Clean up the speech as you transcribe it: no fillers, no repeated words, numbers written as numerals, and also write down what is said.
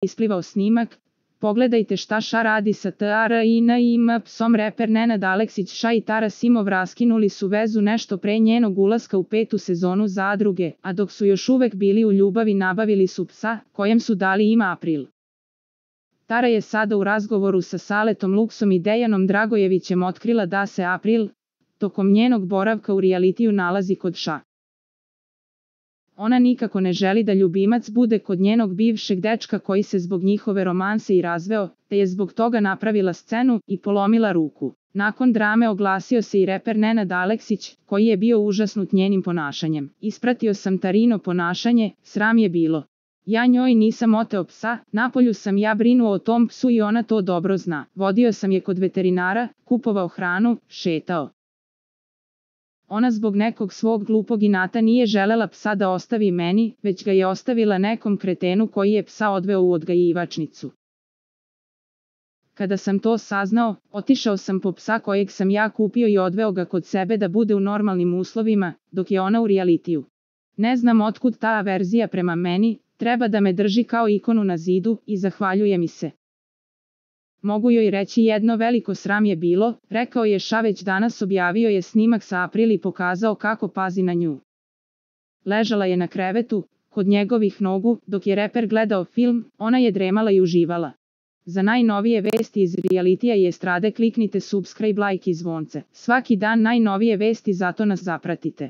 isplivao snimak. Pogledajte šta Ša radi sa TARINIM psom. Reper Nenad Aleksić Ša i Tara Simov raskinuli su vezu nešto pre njenog ulaska u 5. sezonu Zadruge, a dok su još uvek bili u ljubavi nabavili su psa, kojem su dali ime April. Tara je sada u razgovoru sa Saletom Luksom i Dejanom Dragojevićem otkrila da se April, tokom njenog boravka u realitiju, nalazi kod Ša. Ona nikako ne želi da ljubimac bude kod njenog bivšeg dečka koji se zbog njihove romanse i razveo, te je zbog toga napravila scenu i polomila ruku. Nakon drame oglasio se i reper Nenad Aleksić, koji je bio užasnut njenim ponašanjem. Ispratio sam Tarino ponašanje, sram je bilo. Ja njoj nisam oteo psa, napolju sam ja brinuo o tom psu i ona to dobro zna. Vodio sam je kod veterinara, kupovao hranu, šetao. Ona zbog nekog svog glupog inata nije želela psa da ostavi meni, već ga je ostavila nekom kretenu koji je psa odveo u odgajivačnicu. Kada sam to saznao, otišao sam po psa kojeg sam ja kupio i odveo ga kod sebe da bude u normalnim uslovima, dok je ona u realitiju. Ne znam otkud ta averzija prema meni, treba da me drži kao ikonu na zidu i zahvaljuje mi se. Mogu joj reći jedno veliko sram je bilo, rekao je Ša već danas. Objavio je snimak sa April i pokazao kako pazi na nju. Ležala je na krevetu, kod njegovih nogu, dok je reper gledao film, ona je dremala i uživala. Za najnovije vesti iz realitija i estrade kliknite subscribe, like i zvonce. Svaki dan najnovije vesti, zato nas zapratite.